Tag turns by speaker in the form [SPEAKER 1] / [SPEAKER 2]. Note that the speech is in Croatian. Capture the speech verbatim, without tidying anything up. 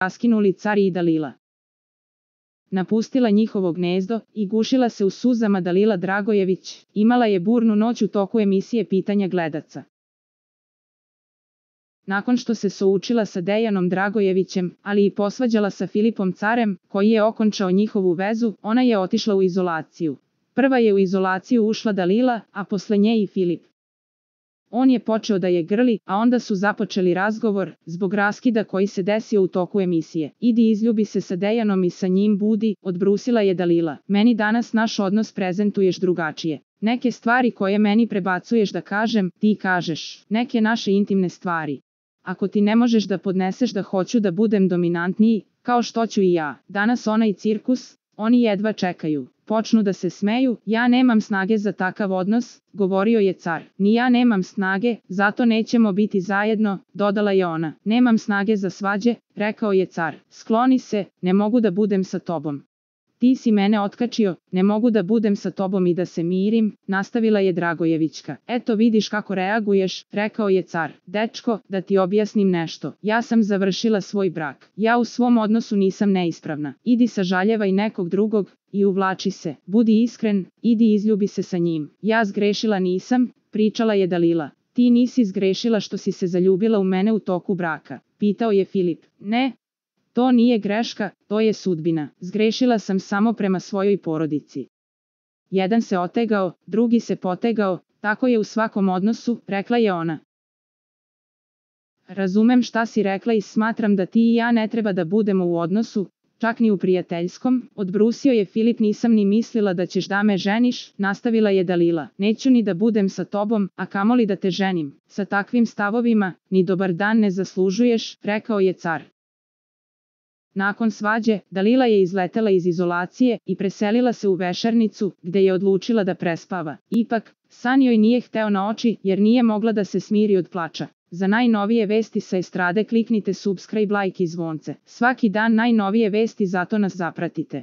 [SPEAKER 1] raskinuli car i Dalila. Napustila njihovo gnezdo i gušila se u suzama Dalila Dragojević, imala je burnu noć u toku emisije Pitanja gledaca. Nakon što se součila sa Dejanom Dragojevićem, ali i posvađala sa Filipom Carem, koji je okončao njihovu vezu, ona je otišla u izolaciju. Prva je u izolaciju ušla Dalila, a posle nje i Filip. On je počeo da je grli, a onda su započeli razgovor, zbog raskida koji se desio u toku emisije. Idi izljubi se sa Dejanom i sa njim budi, odbrusila je Dalila. Meni danas naš odnos prezentuješ drugačije. Neke stvari koje meni prebacuješ da kažem, ti kažeš. Neke naše intimne stvari. Ako ti ne možeš da podneseš da hoću da budem dominantniji, kao što ću i ja. Danas onaj cirkus, oni jedva čekaju. Počnu da se smeju, ja nemam snage za takav odnos, govorio je car. Ni ja nemam snage, zato nećemo biti zajedno, dodala je ona. Nemam snage za svađe, rekao je car. Skloni se, ne mogu da budem sa tobom. Ti si mene otkačio, ne mogu da budem sa tobom i da se mirim, nastavila je Dragojevićka. Eto vidiš kako reaguješ, rekao je car. Dečko, da ti objasnim nešto. Ja sam završila svoj brak. Ja u svom odnosu nisam neispravna. Idi sažaljevaj nekog drugog i uvlači se. Budi iskren, idi izljubi se sa njim. Ja zgrešila nisam, pričala je Dalila. Ti nisi zgrešila što si se zaljubila u mene u toku braka, pitao je Filip. Ne. To nije greška, to je sudbina. Zgrešila sam samo prema svojoj porodici. Jedan se otegao, drugi se potegao, tako je u svakom odnosu, rekla je ona. Razumem šta si rekla i smatram da ti i ja ne treba da budemo u odnosu, čak ni u prijateljskom, odbrusio je Filip. Nisam ni mislila da ćeš da me ženiš, nastavila je Dalila. Neću ni da budem sa tobom, a kamoli da te ženim. Sa takvim stavovima, ni dobar dan ne zaslužuješ, rekao je car. Nakon svađe, Dalila je izletela iz izolacije i preselila se u vešernicu, gde je odlučila da prespava. Ipak, san joj nije hteo na oči jer nije mogla da se smiri od plača. Za najnovije vesti sa estrade kliknite subscribe, like i zvonce. Svaki dan najnovije vesti, zato nas zapratite.